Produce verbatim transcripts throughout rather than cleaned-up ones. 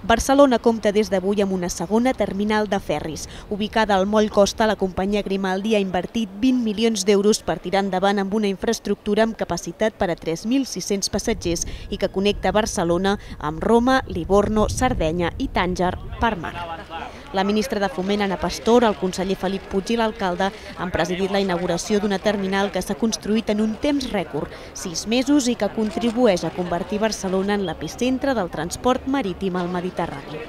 Barcelona compta des d'avui amb una segona terminal de ferris. Ubicada al moll Costa, la companyia Grimaldi ha invertit vint milions d'euros per tirar endavant amb una infraestructura amb capacitat per a tres mil sis-cents passatgers i que connecta Barcelona amb Roma, Livorno, Sardenya i Tànger per mar. La ministra de Foment, Ana Pastor, el conseller Felip Puig i l'alcalde han presidit la inauguració d'una terminal que s'ha construït en un temps rècord, sis mesos, i que contribueix a convertir Barcelona en l'epicentre del transport marítim al Mediterrani.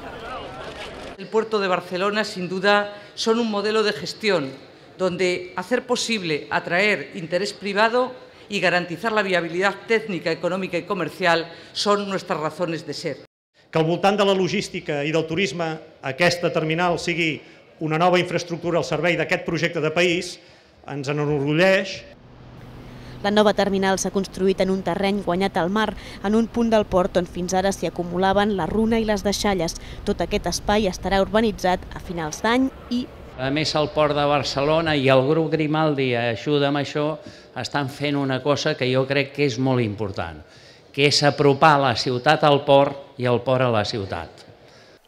El puerto de Barcelona, sin duda, son un modelo de gestión donde hacer posible atraer interés privado y garantizar la viabilidad técnica, econòmica i comercial son nuestras razones de ser. Que al voltant de la logística i del turisme aquesta terminal sigui una nova infraestructura al servei d'aquest projecte de país ens enorgulleix. La nova terminal s'ha construït en un terreny guanyat al mar, en un punt del port on fins ara s'hi acumulaven la runa i les deixalles. Tot aquest espai estarà urbanitzat a finals d'any i... A més, el Port de Barcelona i el grup Grimaldi ajuda amb això, estan fent una cosa que jo crec que és molt important, que és apropar la ciutat al port i el port a la ciutat.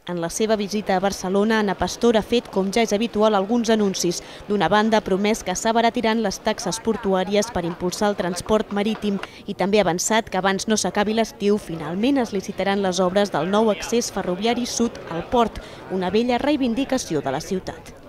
En la seva visita a Barcelona, Ana Pastor ha fet, com ja és habitual, alguns anuncis. D'una banda, ha promès que s'abaratiran les taxes portuàries per impulsar el transport marítim i també ha avançat que abans no s'acabi l'estiu, finalment es licitaran les obres del nou accés ferroviari sud al port, una vella reivindicació de la ciutat.